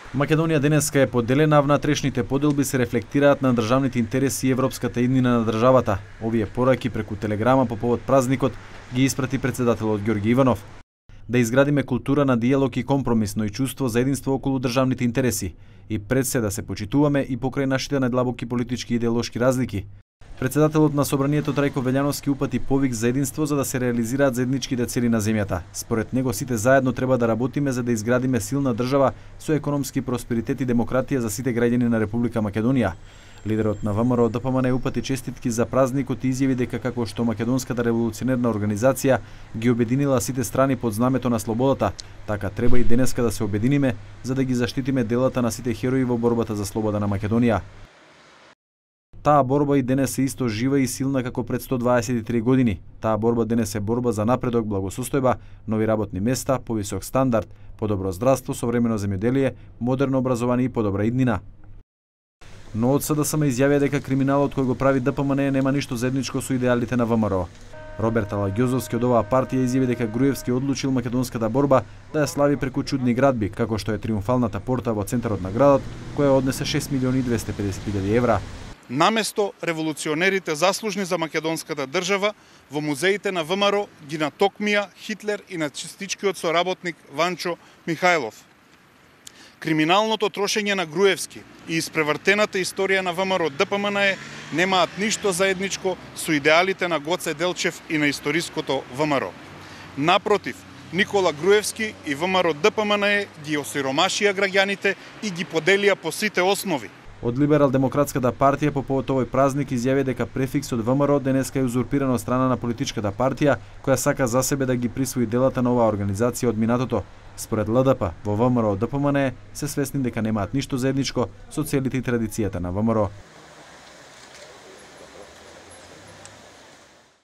Македонија денеска е поделена, а внатрешните поделби се рефлектираат на државните интереси и европската иднина на државата. Овие пораки преку телеграма по повод празникот ги испрати председателот Ѓорги Иванов. Да изградиме култура на диалог и компромис, но и чувство за единство околу државните интереси и пред се да се почитуваме и покрај нашите најдлабоки политички и идеолошки разлики. Председателот на Собранието Трајко Велјановски упати повик за единство за да се реализираат заедничките цели на земјата. Според него сите заедно треба да работиме за да изградиме силна држава со економски просперитет и демократија за сите граѓани на Република Македонија. Лидерот на ВМРО ДПМН упати честитки за празникот и изјави дека како што Македонската револуционерна организација ги обединила сите страни под знамето на слободата, така треба и денеска да се обединиме за да ги заштитиме делата на сите херои во борбата за слобода на Македонија. Таа борба и денес е исто жива и силна како пред 123 години. Таа борба денес е борба за напредок, благосостојба, нови работни места, повисок стандард, подобро здравство, современо земјоделие, модерно образование и подобра иднина. Но од СДСМ изјавија дека криминалот кој го прави ДПМН нема ништо заедничко со идеалите на ВМРО. Роберт Алагјозовски од оваа партија изјави дека Груевски одлучил македонската борба да ја слави преку чудни градби, како што е триумфалната порта во центарот на градот, која однесе 6.250.000 евра. Наместо револуционерите заслужни за македонската држава, во музеите на ВМРО ги натокмија Хитлер и нацистичкиот соработник Ванчо Михајлов. Криминалното трошење на Груевски и испревртената историја на ВМРО ДПМН немаат ништо заедничко со идеалите на Гоце Делчев и на историското ВМРО. Напротив, Никола Груевски и ВМРО ДПМН ги осиромашија граѓаните и ги поделија по сите основи. Од Либерал-демократската партија по повод овој празник изјави дека префиксот ВМРО денеска е узурпиран од страна на политичката партија која сака за себе да ги присвои делата на оваа организација од минатото. Според ЛДП, во ВМРО ДПМН се свесни дека немаат ништо заедничко со целите и традицијата на ВМРО.